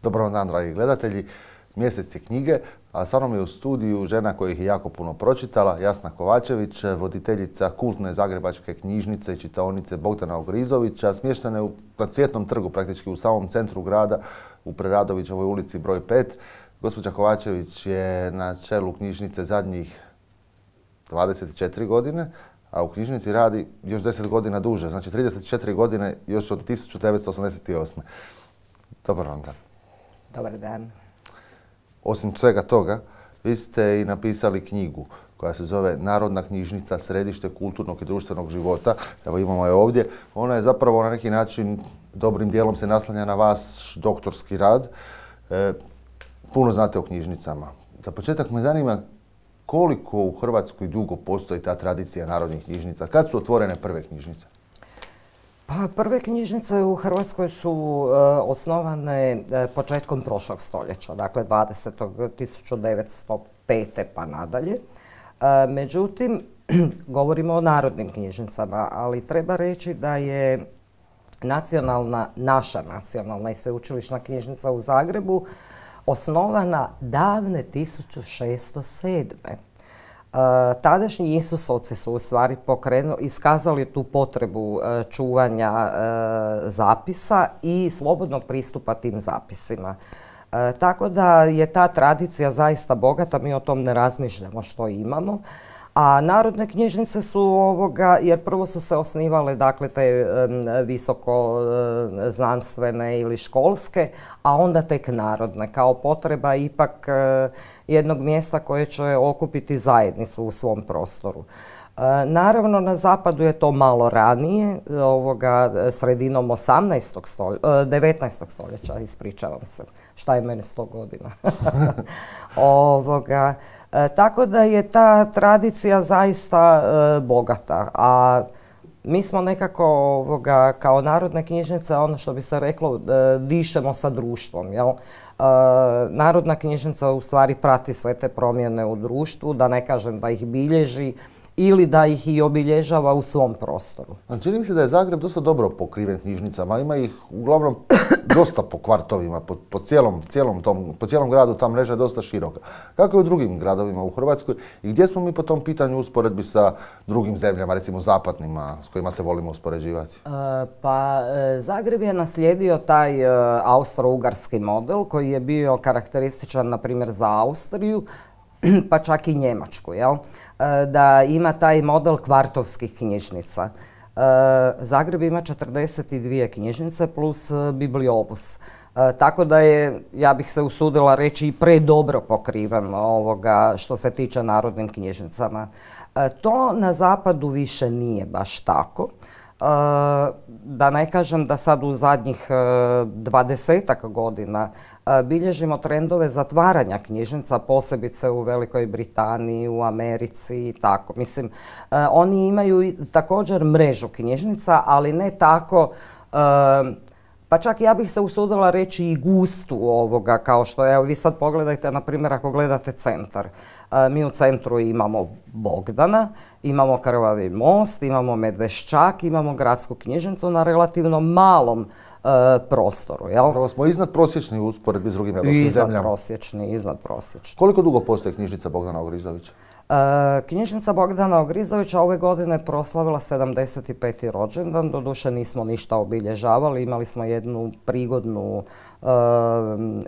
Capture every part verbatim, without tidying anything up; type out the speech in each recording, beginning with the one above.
Dobar vam dan, dragi gledatelji. Mjesec je knjige, a sa mnom je u studiju žena koja ih je jako puno pročitala, Jasna Kovačević, voditeljica kultne zagrebačke knjižnice i čitaonice Bogdana Ogrizovića, smještene na Cvjetnom trgu, praktički u samom centru grada, u Preradovićevoj ulici broj pet. Gospođa Kovačević je na čelu knjižnice zadnjih dvadeset četiri godine, a u knjižnici radi još deset godina duže, znači trideset četiri godine još od tisuću devetsto osamdeset osme. Dobar vam dan. Dobar dan. Osim svega toga, vi ste i napisali knjigu koja se zove Narodna knjižnica, središte kulturnog i društvenog života. Evo imamo je ovdje. Ona je zapravo na neki način dobrim dijelom se naslanja na vaš doktorski rad. E, puno znate o knjižnicama. Za početak me zanima koliko u Hrvatskoj dugo postoji ta tradicija narodnih knjižnica. Kad su otvorene prve knjižnice? Pa prve knjižnice u Hrvatskoj su e, osnovane e, početkom prošlog stoljeća, dakle dvadesetog tisuću devetsto pete pa nadalje. E, međutim, govorimo o narodnim knjižnicama, ali treba reći da je nacionalna, naša nacionalna i sveučilišna knjižnica u Zagrebu osnovana davne tisuću šessto sedme. Uh, tadašnji Isusovci su u stvari pokrenuli, iskazali tu potrebu uh, čuvanja uh, zapisa i slobodnog pristupa tim zapisima. Uh, tako da je ta tradicija zaista bogata, mi o tom ne razmišljamo što imamo. A narodne knjižnice su ovoga, jer prvo su se osnivale dakle te um, visoko uh, znanstvene ili školske, a onda tek narodne, kao potreba ipak uh, jednog mjesta koje će okupiti zajednicu u svom prostoru. Uh, naravno, na zapadu je to malo ranije, ovoga, sredinom osamnaestog stoljeća, uh, devetnaestog stoljeća, ispričavam se, šta je meni sto godina. ovoga, E, tako da je ta tradicija zaista e, bogata, a mi smo nekako ovoga, kao narodne knjižnice, ono što bi se reklo, e, dišemo sa društvom. Jel? E, narodna knjižnica u stvari prati sve te promjene u društvu, da ne kažem da ih bilježi ili da ih i obilježava u svom prostoru. Čini mi se da je Zagreb dosta dobro pokriven knjižnicama, ima ih uglavnom dosta po kvartovima, po, po, cijelom, cijelom tom, po cijelom gradu ta mreža je dosta široka. Kako je u drugim gradovima u Hrvatskoj i gdje smo mi po tom pitanju usporedbi sa drugim zemljama, recimo zapadnima, s kojima se volimo uspoređivati? E, pa e, Zagreb je naslijedio taj e, austro-ugarski model koji je bio karakterističan na primjer za Austriju, pa čak i Njemačku, jel? Da ima taj model kvartovskih knjižnica. Zagreb ima četrdeset dvije knjižnice plus bibliobus. Tako da je, ja bih se usudila reći, i predobro pokriven ovoga što se tiče narodnim knjižnicama. To na zapadu više nije baš tako. Da ne kažem da sad u zadnjih dvadesetak godina bilježimo trendove zatvaranja knjižnica, posebice u Velikoj Britaniji, u Americi i tako. Mislim, oni imaju također mrežu knjižnica, ali ne tako, pa čak ja bih se usudila reći i gustu ovoga, kao što je, evo vi sad pogledajte, na primjer, ako gledate centar. Mi u centru imamo Bogdana, imamo Krvavi most, imamo Medveščak, imamo gradsku knjižnicu na relativno malom uh, prostoru. Jel? Prvo smo iznad prosječni u usporedbi s drugim europskim zemljama. Iznad prosječni, iznad prosječni. Koliko dugo postoji knjižnica Bogdana Ogrizovića? Uh, knjižnica Bogdana Ogrizovića ove godine proslavila sedamdeset peti rođendan, doduše nismo ništa obilježavali, imali smo jednu prigodnu uh,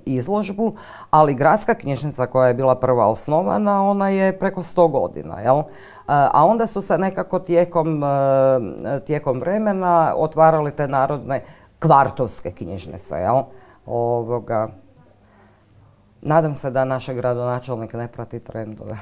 izložbu, ali gradska knjižnica koja je bila prva osnovana, ona je preko sto godina, jel? Uh, a onda su se nekako tijekom, uh, tijekom vremena otvarale te narodne kvartovske knjižnice, jel? Ovoga, nadam se da naš gradonačelnik ne prati trendove.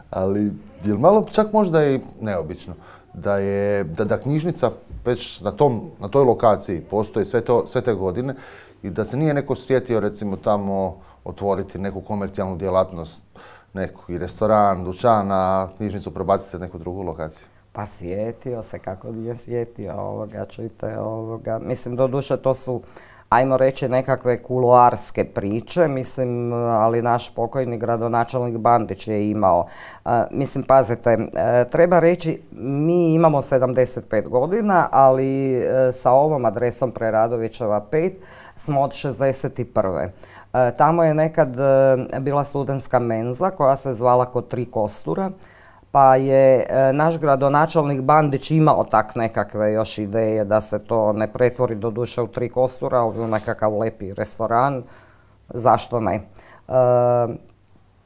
Ali je li malo čak možda i neobično da je da, da knjižnica već na, tom, na toj lokaciji postoji sve, to, sve te godine i da se nije neko sjetio recimo tamo otvoriti neku komercijalnu djelatnost, neki restoran, dućan, a knjižnicu prebaciti na neku drugu lokaciju? Pa sjetio se, kako nije sjetio ovoga, čujte ovoga. Mislim, doduše to su ajmo reći, nekakve kuloarske priče, mislim, ali naš pokojni gradonačelnik Bandić je imao. Mislim, pazite, treba reći, mi imamo sedamdeset pet godina, ali sa ovom adresom Preradovićeva pet smo od šezdeset prve. Tamo je nekad bila studentska menza koja se zvala Kod tri kostura, pa je naš gradonačelnik Bandić imao tak nekakve još ideje da se to ne pretvori do duše u Tri kostura, ali u nekakav lepi restoran, zašto ne. E,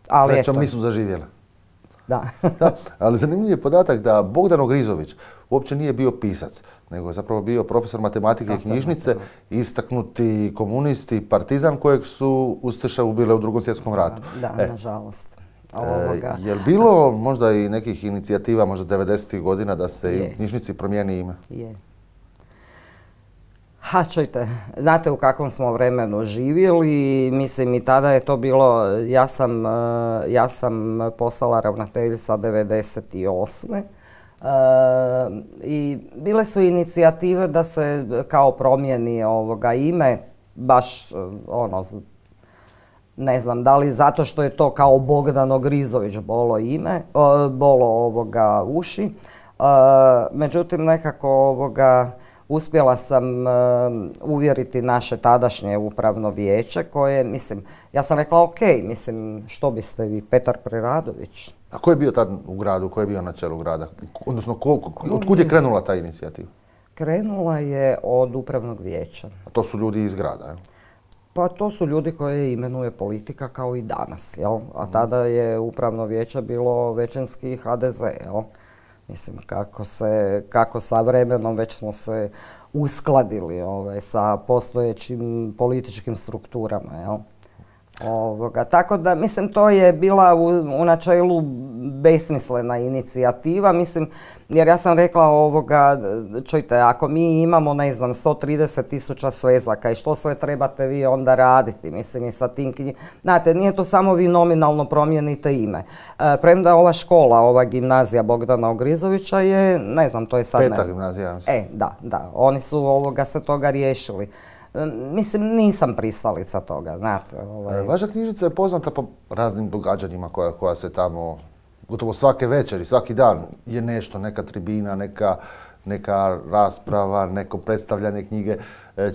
ali Srećom nisu zaživjele. Da. Da, ali zanimljiv je podatak da Bogdan Ogrizović uopće nije bio pisac, nego je zapravo bio profesor matematike i knjižnice, istaknuti komunist i partizan kojeg su ustaše ubile u Drugom svjetskom ratu. Da, e. nažalost. Ovoga. E, je li bilo možda i nekih inicijativa, možda devedesetih godina, da se je. i knjižnici promijeni ime? Je. Ha, čujte, znate u kakvom smo vremenu živjeli, mislim i tada je to bilo, ja sam, ja sam postala ravnateljica devedeset osme. Uh, i bile su inicijative da se kao promijeni ovoga ime, baš ono, ne znam, da li zato što je to kao Bogdan Ogrizović bolo ime, uh, bolo ovoga uši. Uh, međutim, nekako ovoga uspjela sam uh, uvjeriti naše tadašnje upravno vijeće koje, mislim, ja sam rekla ok, mislim, što biste vi, Petar Preradović. A ko je bio tad u gradu, ko je bio na čelu grada? Odnosno, koliko, otkud je krenula ta inicijativa? Krenula je od upravnog vijeća. A to su ljudi iz grada, jel? Pa to su ljudi koje imenuje politika kao i danas, jel? A tada je upravno vijeće bilo većinski ha de ze, jel? Mislim, kako, se, kako sa vremenom već smo se uskladili ovaj, sa postojećim političkim strukturama, jel? Ovoga, tako da, mislim, to je bila u, u načelu besmislena inicijativa, mislim, jer ja sam rekla ovoga, čujte, ako mi imamo, ne znam, sto trideset tisuća svezaka i što sve trebate vi onda raditi, mislim, i sa tim knjigama. Znate, nije to samo vi nominalno promijenite ime. E, premda ova škola, ova gimnazija Bogdana Ogrizovića je, ne znam, to je sad... Peta gimnazija. E, da, da, oni su ovoga se toga riješili. Mislim, nisam pristalica toga, znate. Ovaj. Vaša knjižnica je poznata po raznim događanjima koja, koja se tamo, gotovo svake večeri, svaki dan je nešto, neka tribina, neka, neka rasprava, neko predstavljanje knjige.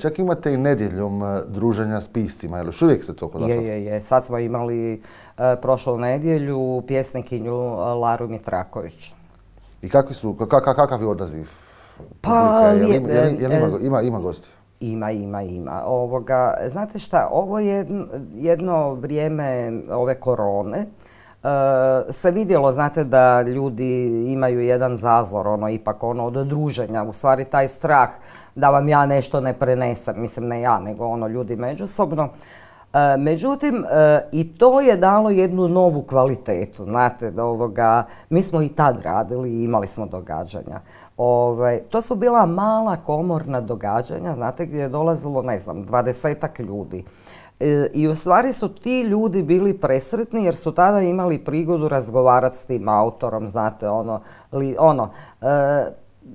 Čak imate i nedjeljom druženja s piscima, jel još uvijek se to kod vas? Je, je, je. Sad smo imali e, prošlu nedjelju pjesnikinju Laru Mitraković. I kakvi su, kak, kakav je odaziv? Pa, jel, jel, jel, jel ima, ima, ima gosti? Ima, ima, ima. Ovoga, znate šta, ovo je jedno vrijeme ove korone. E, se vidjelo, znate, da ljudi imaju jedan zazor, ono, ipak ono, od druženja. U stvari, taj strah da vam ja nešto ne prenesem. Mislim, ne ja, nego ono, ljudi međusobno. E, međutim, e, i to je dalo jednu novu kvalitetu. Znate, da ovoga, mi smo i tad radili i imali smo događanja. Ove, to su bila mala komorna događanja, znate, gdje je dolazilo, ne znam, dvadesetak ljudi. E, I u stvari su ti ljudi bili presretni jer su tada imali prigodu razgovarati s tim autorom, znate, ono, li, ono. E,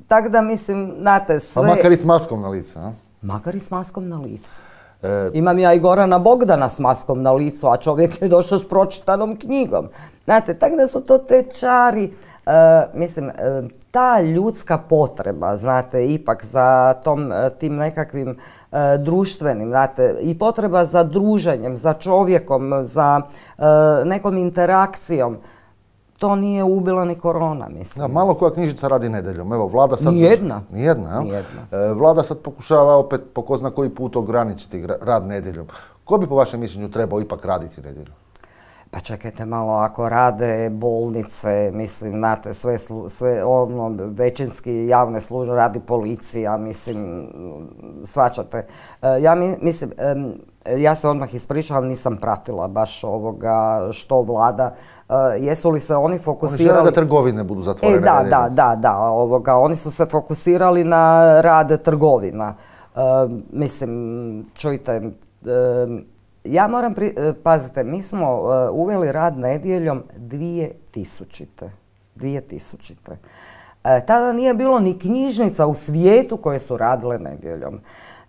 tako da mislim, znate, sve... Pa makar i s maskom na licu, a? Makar i s maskom na licu. E... Imam ja i Gorana Bogdana s maskom na licu, a čovjek je došao s pročitanom knjigom. Znate, tako da su to te čari, e, mislim, e, ta ljudska potreba, znate, ipak za tom, tim nekakvim e, društvenim, znate, i potreba za druženjem, za čovjekom, za e, nekom interakcijom, to nije ubila ni korona, mislim. Da, malo koja knjižnica radi nedjeljom. Evo, vlada sad... Nijedna. Nijedna, jel? Nijedna. E, vlada sad pokušava opet po ko zna koji put ograničiti rad nedjeljom. Ko bi po vašem mišljenju trebao ipak raditi nedjeljom? Pa čekajte malo, ako rade bolnice, mislim, znate, sve, sve ono, većinski javne službe radi policija, mislim, shvaćate. E, ja mi, mislim, e, ja se odmah ispričavam, nisam pratila baš ovoga što vlada, e, jesu li se oni fokusirali... Oni žele da trgovine budu zatvorene. E, da, da, da, da, ovoga, oni su se fokusirali na rad trgovina. E, mislim, čujte... E, Ja moram, pri, pazite, mi smo uh, uveli rad nedjeljom dvije tisućite. dvije tisućite. Uh, tada nije bilo ni knjižnica u svijetu koje su radile nedjeljom.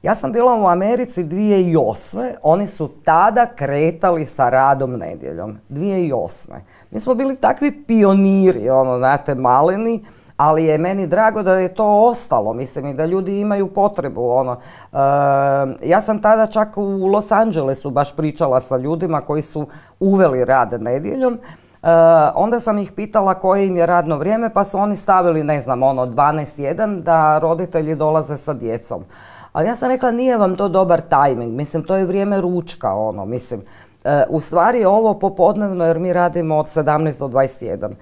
Ja sam bila u Americi dvije tisuće osme. Oni su tada kretali sa radom nedjeljom. dvije tisuće osme. Mi smo bili takvi pioniri, ono, znate, maleni, ali je meni drago da je to ostalo, mislim, i da ljudi imaju potrebu, ono. E, ja sam tada čak u Los Angelesu baš pričala sa ljudima koji su uveli rad nedjeljom. E, onda sam ih pitala koje im je radno vrijeme, pa su oni stavili, ne znam, ono, dvanaest jedan da roditelji dolaze sa djecom. Ali ja sam rekla, nije vam to dobar tajming, mislim, to je vrijeme ručka, ono, mislim. E, u stvari ovo popodnevno, jer mi radimo od sedamnaest do dvadeset jedan.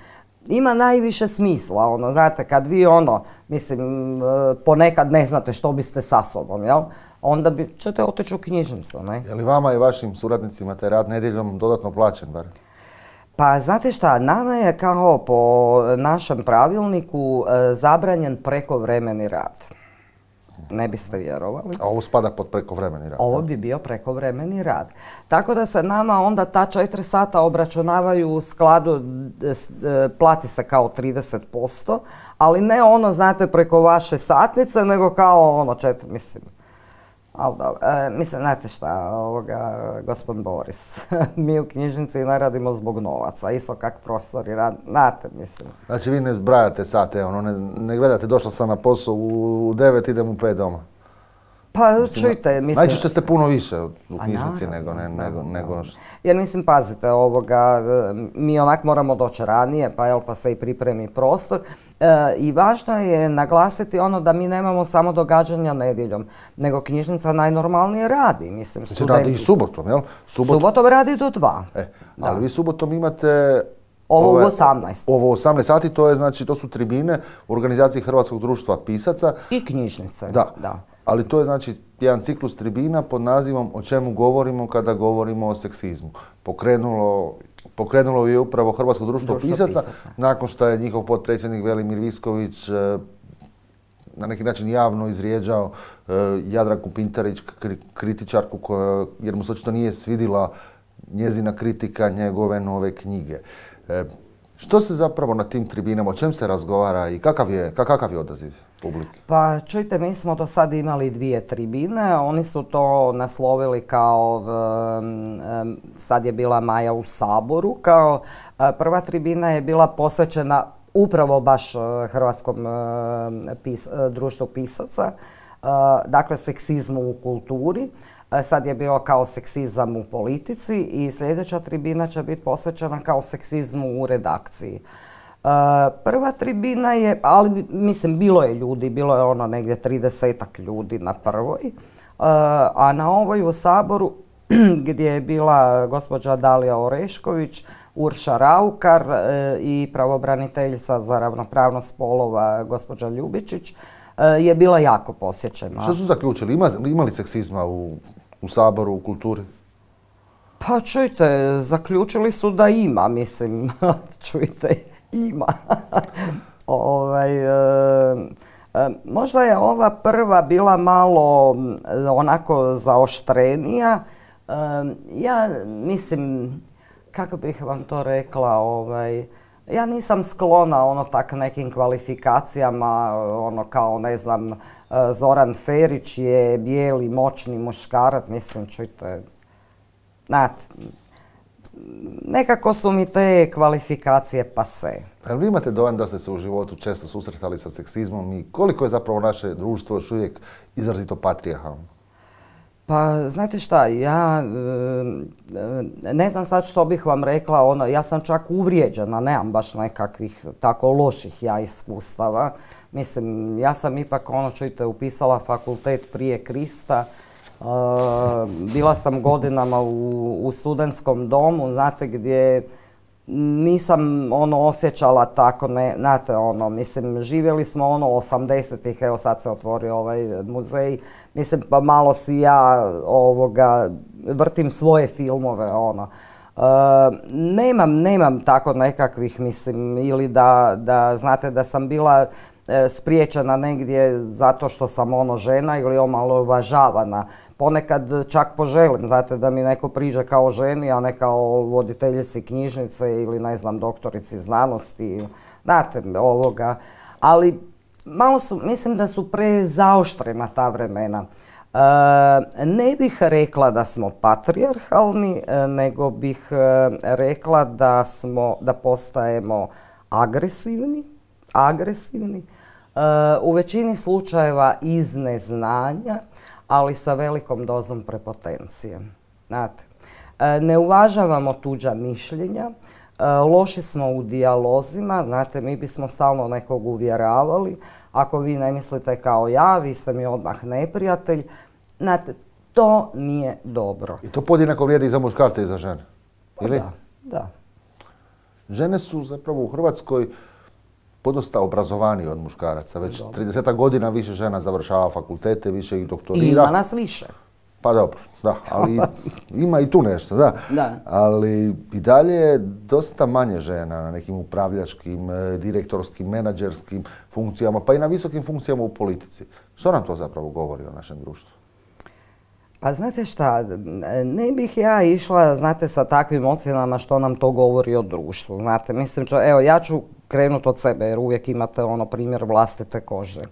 Ima najviše smisla, ono, znate, kad vi, ono, mislim, ponekad ne znate što biste sa sobom, jel? Onda bi, ćete otići u knjižnicu, ne? Je li vama i vašim suradnicima taj rad nedjeljom dodatno plaćen, bar? Pa, znate šta, nama je kao po našem pravilniku zabranjen prekovremeni rad. Ne biste vjerovali. A ovo spada pod prekovremeni rad? Ovo bi bio prekovremeni rad. Tako da se nama onda ta četiri sata obračunavaju u skladu, plati se kao trideset posto, ali ne ono, znate, preko vaše satnice, nego kao ono četiri, mislim. Ali dobro, e, mislim, znate šta, ovoga, gospodin Boris, mi u knjižnici ne radimo zbog novaca, isto kak profesori rad, znate, mislim. Znači vi ne zbrajate sate, ono, ne, ne gledate, došla sam na posao u devet, idem u pet doma. Pa mislim, čujte, mislim... Najčešće ste puno više u knjižnici nego, ne, nego, nego... Jer mislim, pazite, ovoga, mi onak moramo doći ranije, pa, jel, pa se i pripremi prostor. E, I važno je naglasiti ono da mi nemamo samo događanja nedjeljom, nego knjižnica najnormalnije radi, mislim, studenti. Znači radi i subotom, jel? Subot... Subotom radi do dva. E, ali da. Vi subotom imate... Ovo u osamnaest. Ovo u osamnaest sati, to je, znači, to su tribine u organizaciji Hrvatskog društva pisaca. I knjižnice, da. da. Ali to je, znači, jedan ciklus tribina pod nazivom O čemu govorimo kada govorimo o seksizmu. Pokrenulo, pokrenulo je upravo Hrvatsko društvo, društvo pisaca, pisaca, nakon što je njihov potpredsjednik Velimir Visković eh, na neki način javno izvrijeđao eh, Jadranku Pintarić, kri, kritičarku, koja, jer mu se očito nije svidila njezina kritika njegove nove knjige. Eh, što se zapravo na tim tribinama, o čem se razgovara i kakav je, kakav je odaziv publike? Pa čujte, mi smo do sad imali dvije tribine, oni su to naslovili kao, um, um, sad je bila Maja u Saboru, kao uh, prva tribina je bila posvećena upravo baš uh, Hrvatskom uh, pis, uh, društvu pisaca, uh, dakle seksizmu u kulturi. Sad je bio kao seksizam u politici i sljedeća tribina će biti posvećena kao seksizmu u redakciji. Uh, prva tribina je, ali mislim bilo je ljudi, bilo je ono negdje tridesetak ljudi na prvoj, uh, a na ovoj u Saboru gdje je bila gospođa Dalija Orešković, Urša Raukar uh, i pravobraniteljica za ravnopravnost spolova gospođa Ljubičić uh, je bila jako posjećena. Što su zaključili? Ima, ima li seksizma u, u Saboru, u kulturi? Pa čujte, zaključili su da ima, mislim, čujte, ima. ovaj, e, e, možda je ova prva bila malo onako zaoštrenija. E, ja mislim, kako bih vam to rekla, ovaj, ja nisam sklona ono tak nekim kvalifikacijama, ono kao ne znam, Zoran Ferić je bijeli moćni muškarac, mislim, čujte, znate, nekako su mi te kvalifikacije pase. Ali vi imate dojam da ste se u životu često susretali sa seksizmom i koliko je zapravo naše društvo još uvijek izrazito patrijarhalno? Pa, znate šta, ja ne znam sad što bih vam rekla, ono, ja sam čak uvrijeđena, nemam baš nekakvih tako loših ja iskustava. Mislim, ja sam ipak, ono, čujte, upisala fakultet prije Krista, uh, bila sam godinama u, u studentskom domu, znate, gdje nisam ono osjećala tako, ne, znate, ono, mislim, živjeli smo ono osamdesetih, evo sad se otvorio ovaj muzej, mislim, pa malo si ja ovoga, vrtim svoje filmove, ono. Uh, nemam, nemam tako nekakvih, mislim, ili da, da, znate, da sam bila e, spriječena negdje zato što sam ono žena ili omalovažavana. Ponekad čak poželim, znate, da mi neko priđe kao ženi, a ne kao voditeljici knjižnice ili, ne znam, doktorici znanosti, znate, ovoga. Ali malo su, mislim da su prezaoštrena ta vremena. Ne bih rekla da smo patrijarhalni, nego bih rekla da smo, da postajemo agresivni, agresivni, u većini slučajeva iz neznanja, ali sa velikom dozom prepotencije. Znate, ne uvažavamo tuđa mišljenja, loši smo u dijalozima, znate, mi bismo stalno nekog uvjeravali, ako vi ne mislite kao ja, vi ste mi odmah neprijatelj. Znate, to nije dobro. I to podjednako vrijedi i za muškarce i za žene? Ili? Da, da. Žene su zapravo u Hrvatskoj podosta obrazovaniji od muškaraca. Već trideset godina više žena završava fakultete, više ih doktorira. Ima nas više. Pa dobro, da, ali ima i tu nešto, da. Da. Ali i dalje je dosta manje žena na nekim upravljačkim, direktorskim, menadžerskim funkcijama, pa i na visokim funkcijama u politici. Što nam to zapravo govori o našem društvu? Pa znate šta, ne bih ja išla, znate, sa takvim ocjenama što nam to govori o društvu. Znate, mislim, čo, evo, ja ću krenuti od sebe jer uvijek imate ono primjer vlastite kože.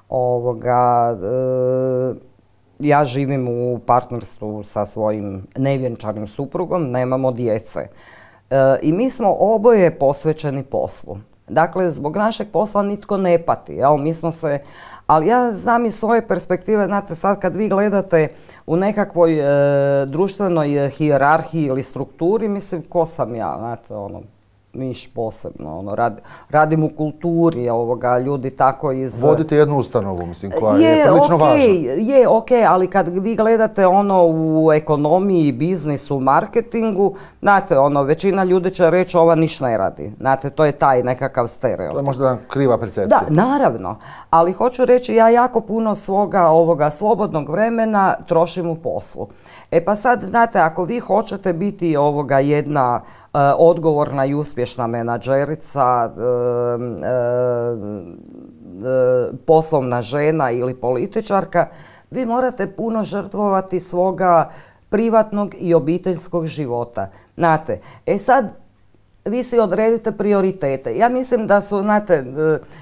Ovoga, e, ja živim u partnerstvu sa svojim nevjenčanim suprugom, nemamo djece. E, I mi smo oboje posvećeni poslu. Dakle, zbog našeg posla nitko ne pati, jel? Mi smo se, ali ja znam iz svoje perspektive, znate, sad kad vi gledate u nekakvoj e, društvenoj hijerarhiji ili strukturi, mislim, ko sam ja, znate, ono, niš posebno, ono, rad, radim u kulturi, ovoga, ljudi tako iz... Vodite jednu ustanovu, mislim, koja je, je prilično okay, važna. Je, ok, ali kad vi gledate ono u ekonomiji, biznisu, marketingu, znate, ono, većina ljudi će reći ova niš ne radi. Znate, to je taj nekakav stereotip. To je možda kriva percepcija. Da, naravno, ali hoću reći, ja jako puno svoga ovoga slobodnog vremena trošim u poslu. E pa sad, znate, ako vi hoćete biti ovoga jedna uh, odgovorna i uspješna menadžerica, uh, uh, uh, poslovna žena ili političarka, vi morate puno žrtvovati svoga privatnog i obiteljskog života. Znate, e sad, vi si odredite prioritete. Ja mislim da su, znate,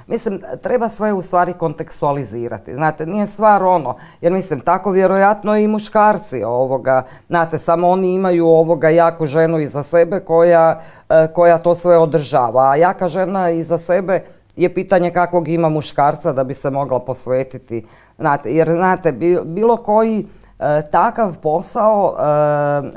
mislim, treba sve u stvari kontekstualizirati. Znate, nije stvar ono, jer mislim, tako vjerojatno i muškarci ovoga, znate, samo oni imaju ovoga jaku ženu iza sebe koja, koja to sve održava. A jaka žena iza sebe je pitanje kakvog ima muškarca da bi se mogla posvetiti. Znate, jer, znate, bilo koji e, takav posao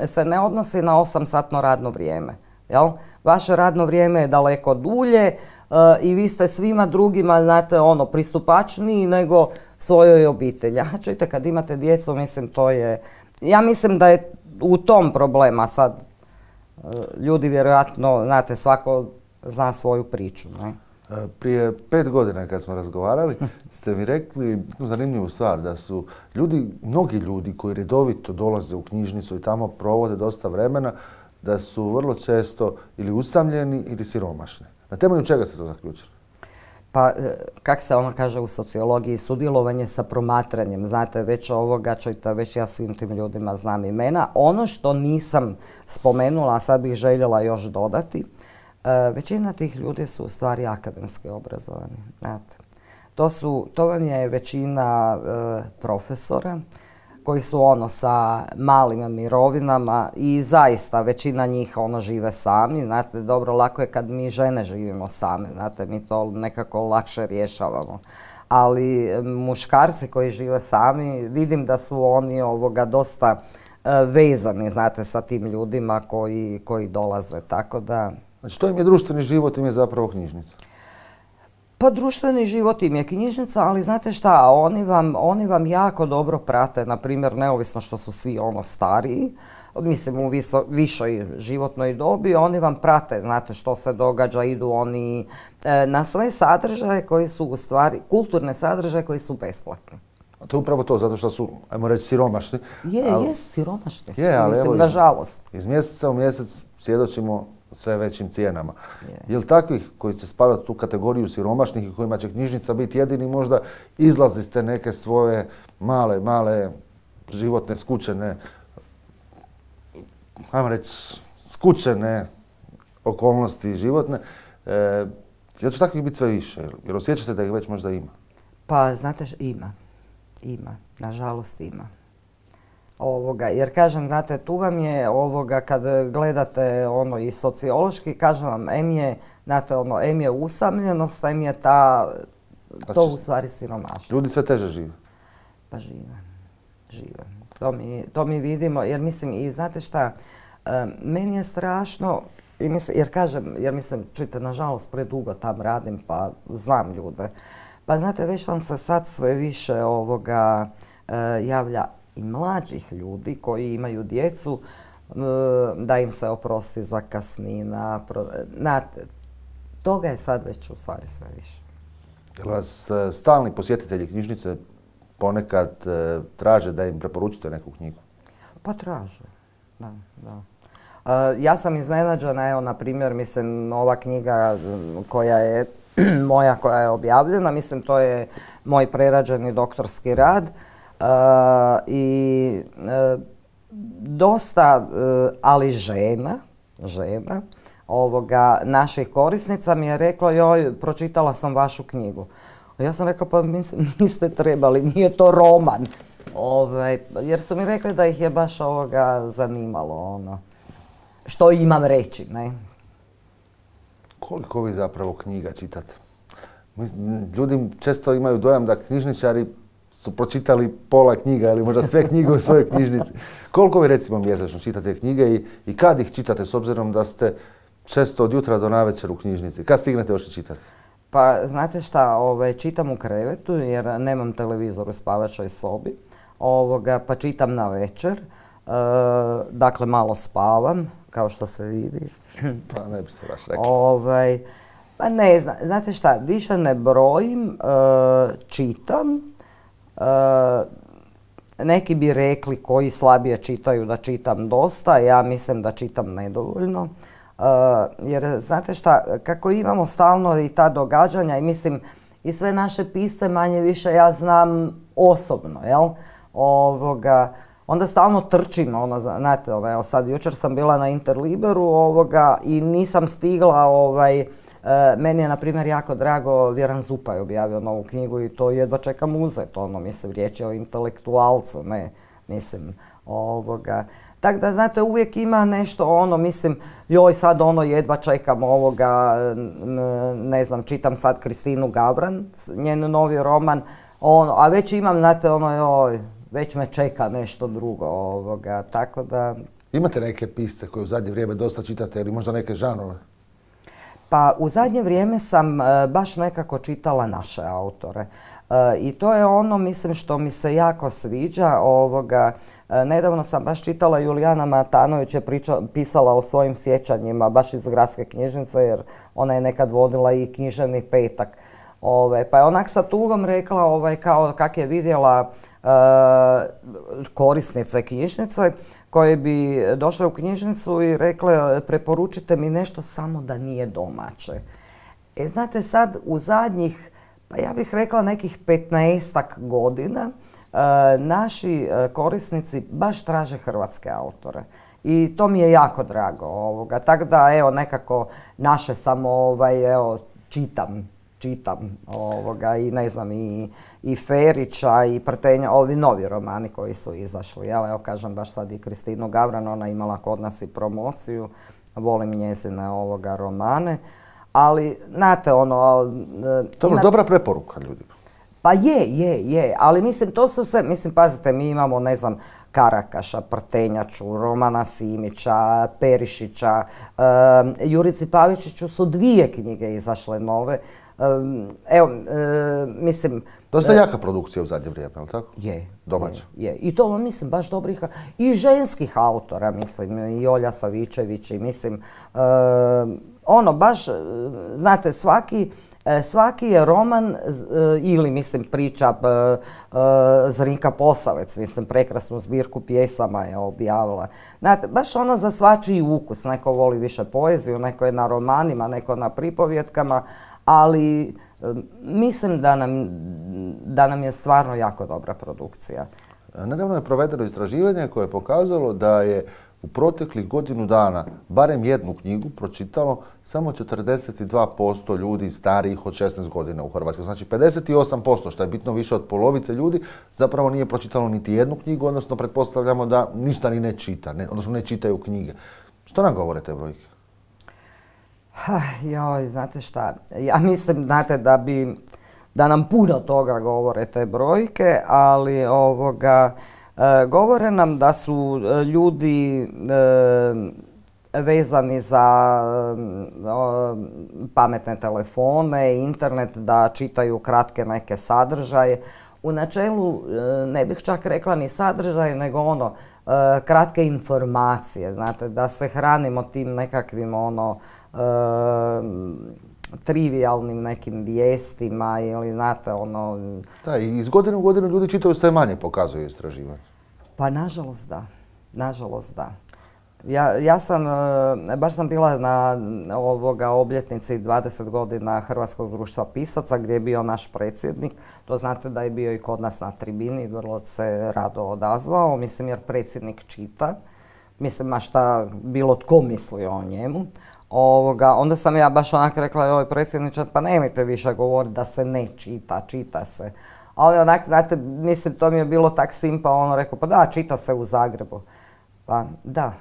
e, se ne odnosi na osamsatno radno vrijeme, jel? Vaše radno vrijeme je daleko dulje uh, i vi ste svima drugima, znate, ono, pristupačniji nego svojoj obitelji. A čujte, kad imate djecu, mislim, to je... Ja mislim da je u tom problema sad. Uh, ljudi vjerojatno, znate, svako zna svoju priču, ne? Prije pet godina kad smo razgovarali, ste mi rekli jednu zanimljivu stvar, da su ljudi, mnogi ljudi koji redovito dolaze u knjižnicu i tamo provode dosta vremena, da su vrlo često ili usamljeni ili siromašni. Na temelju čega ste to zaključili? Pa, kak se ono kaže u sociologiji, sudjelovanje sa promatranjem. Znate, već ovoga, čujte, već ja svim tim ljudima znam imena. Ono što nisam spomenula, a sad bih željela još dodati, većina tih ljudi su u stvari akademski obrazovani. Znate, to, su, to vam je većina e, profesora koji su ono sa malim mirovinama i zaista većina njih ono žive sami. Znate, dobro, lako je kad mi žene živimo same, znate, mi to nekako lakše rješavamo. Ali muškarci koji žive sami, vidim da su oni ovoga dosta uh, vezani, znate, sa tim ljudima koji, koji dolaze, tako da... Znači, to im je društveni život, im je zapravo knjižnica. Pa društveni život im je knjižnica, ali znate šta, oni vam, oni vam jako dobro prate, na primjer, neovisno što su svi ono stariji, mislim u viso, višoj životnoj dobi, oni vam prate, znate što se događa, idu oni e, na sve sadržaje koji su u stvari, kulturne sadržaje koji su besplatni. A to je upravo to, zato što su, ajmo reći, siromašni. Je, ali, jesu siromašni, je, ali mislim, evo, nažalost. Iz mjeseca u mjesec svjedočimo sve većim cijenama. Je. Je li takvih koji će spadati u tu kategoriju siromašnih i kojima će knjižnica biti jedini možda izlazi iz te neke svoje male, male životne skučene, ajmo reći, skučene okolnosti životne, e, jel će takvih biti sve više? Jer osjećate da ih već možda ima? Pa, znate, ima. Ima, nažalost ima. Ovoga, jer kažem, znate, tu vam je ovoga, kad gledate ono i sociološki, kažem vam, em je, znate, ono, em je usamljenost, em je ta, to u stvari siromaštvo. Ljudi sve teže žive? Pa žive, žive. To mi, to mi vidimo, jer mislim, i znate šta, meni je strašno, i mislim, jer kažem, jer mislim, čujte, nažalost, predugo tam radim, pa znam ljude. Pa znate, već vam se sad sve više ovoga javlja i mlađih ljudi koji imaju djecu, da im se oprosti zakasnina. Znate, toga je sad već u stvari sve više. Jel vas stalni posjetitelji knjižnice ponekad traže da im preporučite neku knjigu? Pa traže, da, da. Ja sam iznenađena, evo, na primjer, mislim, ova knjiga koja je moja, koja je objavljena, mislim, to je moj prerađeni doktorski rad. Uh, i uh, dosta, uh, ali žena, žena ovoga, naših korisnica mi je rekla, joj, pročitala sam vašu knjigu. Ja sam rekla, pa mislim, niste trebali, nije to roman. Ovaj, jer su mi rekli da ih je baš ovoga zanimalo, ono, što imam reći, ne. Koliko vi zapravo knjiga čitate? Ljudi često imaju dojam da knjižničari su pročitali pola knjiga ili možda sve knjige u svojoj knjižnici. Koliko vi recimo mjesečno čitate knjige i, i kad ih čitate, s obzirom da ste često od jutra do navečer u knjižnici? Kad stignete još čitati? Pa znate šta, ovaj, čitam u krevetu jer nemam televizor u spavačoj sobi, ovoga, pa čitam na večer, e, dakle malo spavam, kao što se vidi. Pa ne bi se baš rekli. Ovaj, pa ne znam, znate šta, više ne brojim, e, čitam. Uh, neki bi rekli koji slabije čitaju da čitam dosta, ja mislim da čitam nedovoljno. Uh, jer znate šta, kako imamo stalno i ta događanja i mislim i sve naše pisce manje više ja znam osobno, jel? Ovoga, onda stalno trčim, ono, znate, evo sad jučer sam bila na Interliberu ovoga i nisam stigla, ovaj, meni je, na primjer, jako drago, Vjeran Zupaj objavio novu knjigu i to jedva čekam uzeti, ono, mislim, riječ je o intelektualcu, ne, mislim, ovoga. Tako da, znate, uvijek ima nešto, ono, mislim, joj, sad, ono, jedva čekam ovoga, ne znam, čitam sad Kristinu Gavran, njen novi roman, ono, a već imam, znate, ono, joj, već me čeka nešto drugo, ovoga, tako da... Imate neke pisce koje u zadnje vrijeme dosta čitate ili možda neke žanrove? Pa u zadnje vrijeme sam e, baš nekako čitala naše autore. E, I to je ono, mislim, što mi se jako sviđa. Ovoga, e, nedavno sam baš čitala, Julijana Matanović je priča, pisala o svojim sjećanjima, baš iz Gradske knjižnice, jer ona je nekad vodila i književni petak. Ove, pa je onak sa tugom rekla, ovaj, kao kak je vidjela e, korisnice knjižnice, koje bi došle u knjižnicu i rekle, preporučite mi nešto samo da nije domaće. E, znate, sad u zadnjih, pa ja bih rekla nekih petnaestak godina, e, naši korisnici baš traže hrvatske autore. I to mi je jako drago. Ovoga. Tako da, evo, nekako naše samo, ovaj, evo, čitam. čitam ovoga, i ne znam, i, i Ferića, i Prtenja, ovi novi romani koji su izašli. Jel, evo, kažem, baš sad i Kristinu Gavran, ona imala kod nas i promociju, volim njezine ovoga romane, ali, znate, ono... To je ima... dobra preporuka ljudima. Pa je, je, je, ali mislim, to su sve, mislim, pazite, mi imamo, ne znam, Karakaša, Prtenjaču, Romana Simića, Perišića, um, Jurici Pavičiću su dvije knjige izašle nove. Um, evo, um, mislim... Dosta uh, jaka produkcija u zadnje vrijeme, ali tako? Je. Domaća. Je, je. I to, mislim, baš dobrih, i ženskih autora, mislim, i Olja Savičević, i mislim, uh, ono, baš, znate, svaki... Svaki je roman ili, mislim, priča Zrinka Posavec, mislim, prekrasnu zbirku pjesama je objavila. Znate, baš ono za svačiji ukus. Neko voli više poeziju, neko je na romanima, neko na pripovjetkama, ali mislim da nam, da nam je stvarno jako dobra produkcija. Nedavno je provedeno istraživanje koje je pokazalo da je u proteklih godinu dana barem jednu knjigu pročitalo samo četrdeset dva posto ljudi starijih od šesnaest godina u Hrvatskoj. Znači pedeset osam posto, što je bitno više od polovice ljudi, zapravo nije pročitalo niti jednu knjigu, odnosno pretpostavljamo da ništa ni ne čita, ne, odnosno ne čitaju knjige. Što nam govore te brojke? Joj, znate šta, ja mislim, znate, da bi, da nam puno toga govore te brojke, ali ovoga, e, govore nam da su ljudi e, vezani za e, pametne telefone, internet, da čitaju kratke neke sadržaje. U načelu e, ne bih čak rekla ni sadržaje, nego ono, e, kratke informacije, znate, da se hranimo tim nekakvim ono, Uh, trivijalnim nekim vijestima ili znate ono... Da, i iz godine u godinu ljudi čitaju sve manje, pokazuju istraživanje. Pa nažalost da, nažalost da. Ja, ja sam, baš sam bila na ovoga obljetnici dvadeset godina Hrvatskog društva pisaca gdje je bio naš predsjednik. To znate da je bio i kod nas na tribini, vrlo se rado odazvao, mislim jer predsjednik čita. Mislim, ma šta bilo tko mislio o njemu. Ovoga, onda sam ja baš onako rekla, joj predsjedniče, pa nemojte više govoriti da se ne čita, čita se. A on je onak, znate, mislim, to mi je bilo tak simpa, ono rekao, pa da, čita se u Zagrebu. Pa da.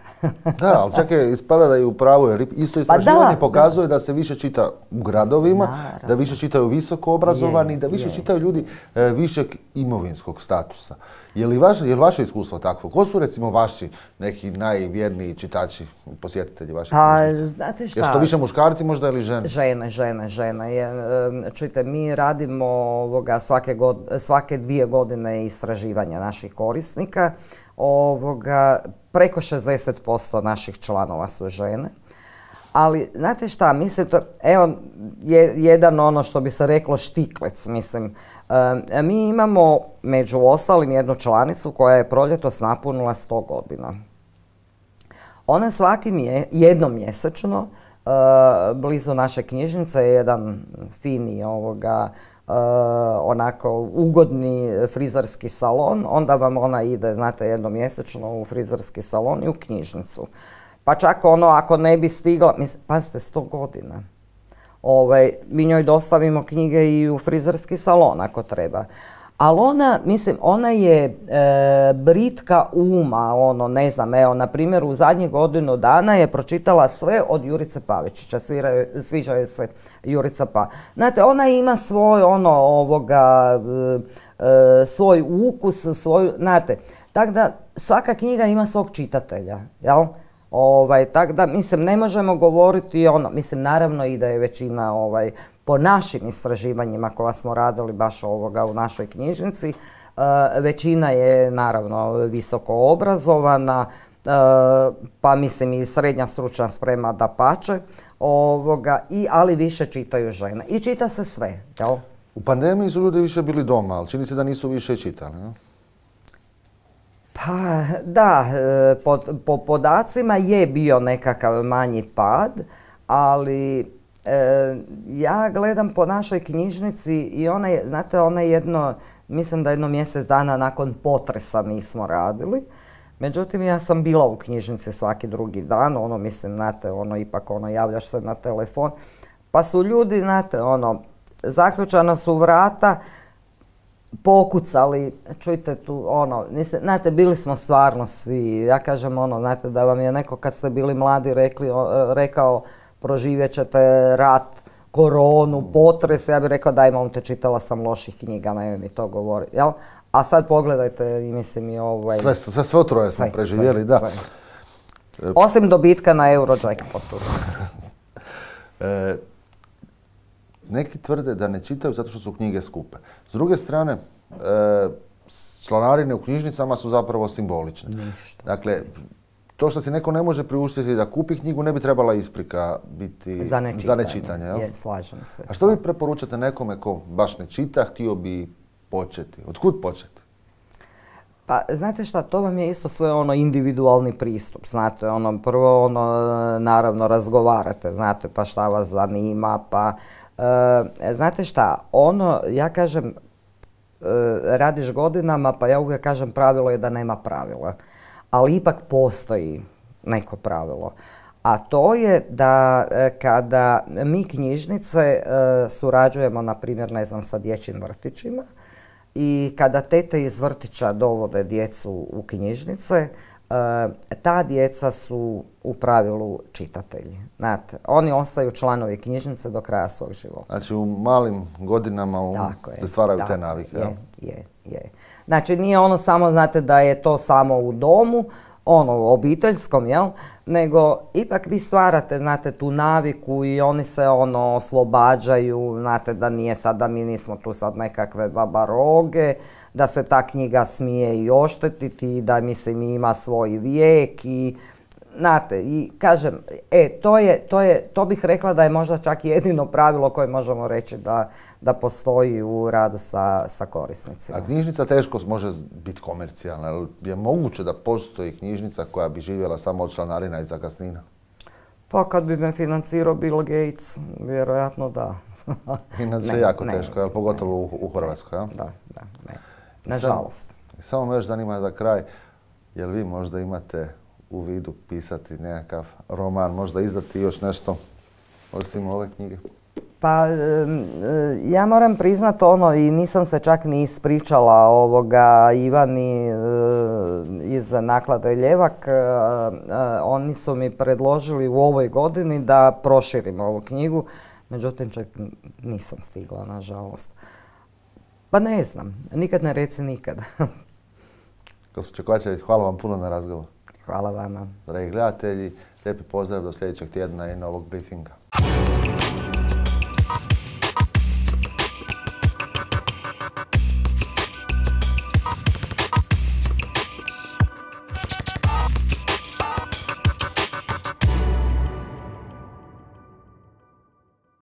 Da, ali čak je ispada da je u pravu, jer isto istraživanje pa da, pokazuje da. da se više čita u gradovima, naravno, da više čitaju visoko obrazovani, je, da više je. čitaju ljudi e, višeg imovinskog statusa. Je li, vaš, je li vaše iskustvo takvo? Ko su recimo vaši neki najvjerniji čitači, posjetitelji vaših pa, knjižnica? Znate šta? Jesu to više muškarci možda ili žene? Žene, žene, žene. Je, čujte, mi radimo ovoga svake, god, svake dvije godine istraživanja naših korisnika. Ovoga, preko šezdeset posto naših članova su žene. Ali, znate šta, mislim, to, evo, je, jedan ono što bi se reklo štiklec, mislim. E, mi imamo, među ostalim, jednu članicu koja je proljetos napunila sto godina. Ona svaki mje, jednom mjesečno, e, blizu naše knjižnice je jedan fini ovoga, Uh, onako ugodni frizerski salon, onda vam ona ide, znate, jednom mjesečno u frizerski salon i u knjižnicu. Pa čak ono, ako ne bi stigla, mislim, pazite, sto godina. Ovaj, mi njoj dostavimo knjige i u frizerski salon ako treba. Ali ona, mislim, ona je e, britka uma, ono, ne znam, evo, na primjer, u zadnjih godinu dana je pročitala sve od Jurice Pavičića, svira, sviđa joj se Jurica Pa. Znate, ona ima svoj, ono, ovoga, e, e, svoj ukus, svoju, znate, tako da svaka knjiga ima svog čitatelja, jel? Ovaj, tako da, mislim, ne možemo govoriti ono, mislim, naravno i da je većina, ovaj, po našim istraživanjima koja smo radili baš ovoga u našoj knjižnici, e, većina je naravno visoko obrazovana, e, pa mislim i srednja stručna sprema dapače, ovoga, i, ali više čitaju žene. I čita se sve, jel? U pandemiji su ljudi više bili doma, ali čini se da nisu više čitali, ne? Pa da, po, po podacima je bio nekakav manji pad, ali e, ja gledam po našoj knjižnici i ona je, znate, ona je jedno, mislim da jedno mjesec dana nakon potresa nismo radili. Međutim, ja sam bila u knjižnici svaki drugi dan, ono, mislim, znate, ono, ipak, ono, javljaš se na telefon, pa su ljudi, znate, ono, zaključana su vrata, pokucali, čujte tu, ono, mislim, znate, bili smo stvarno svi, ja kažem, ono, znate, da vam je neko kad ste bili mladi rekli, o, rekao, proživjet ćete rat, koronu, potres, ja bih rekla, daj, momte, čitala sam loših knjiga, ne mi to govori, jel? A sad pogledajte, i mislim, i ovaj... Sve, sve, sve otroje smo preživjeli, sve, da. Sve. Osim dobitka na Eurojackpotu. e, Neki tvrde da ne čitaju zato što su knjige skupe. S druge strane, e, članarine u knjižnicama su zapravo simbolične. Ništa. Dakle, to što si neko ne može priuštiti da kupi knjigu ne bi trebala isprika biti za nečitanje. Za nečitanje, jel? Je, slažem se. A što vi preporučate nekome ko baš ne čita, htio bi početi? Otkud početi? Pa, znate šta, to vam je isto sve ono individualni pristup, znate, ono, prvo, ono, naravno, razgovarate, znate, pa šta vas zanima, pa, e, znate šta, ono, ja kažem, e, radiš godinama, pa ja uvijek kažem, pravilo je da nema pravila, ali ipak postoji neko pravilo. A to je da kada mi knjižnice surađujemo, na primjer, ne znam, sa dječjim vrtićima i kada tete iz vrtića dovode djecu u knjižnice, ta djeca su u pravilu čitatelji. Znate, oni ostaju članovi knjižnice do kraja svog života. Znači u malim godinama um, se stvaraju te navike. Je, je, je. Znači nije ono samo, znate, da je to samo u domu, ono u obiteljskom, jel? Nego ipak vi stvarate, znate, tu naviku i oni se ono oslobađaju, znate, da nije sad, da mi nismo tu sad nekakve babaroge, da se ta knjiga smije i oštetiti, da mislim ima svoj vijek i znate, i kažem, e, to je, to je, to bih rekla da je možda čak jedino pravilo koje možemo reći da, da postoji u radu sa, sa korisnicima. A knjižnica teško može biti komercijalna, ali je moguće da postoji knjižnica koja bi živjela samo od članarina i zakasnina? Pa kad bi me financirao Bill Gates, vjerojatno da. Inače jako ne, teško, jel? Pogotovo ne, u, u Hrvatskoj, jel? Da, da, ne. Nažalost. Samo me još zanima za kraj, jel vi možda imate u vidu pisati nekakav roman, možda izdati još nešto osim ove knjige? Pa ja moram priznat ono, i nisam se čak ni ispričala ovoga Ivani iz Naklade Ljevak. Oni su mi predložili u ovoj godini da proširim ovu knjigu, međutim čak nisam stigla, nažalost. Pa ne znam, nikad ne reci nikad. Gospođo Kovačević, hvala vam puno na razgovor. Hvala vama. Dragi gledatelji, lijepi pozdrav do sljedećeg tjedna i novog briefinga.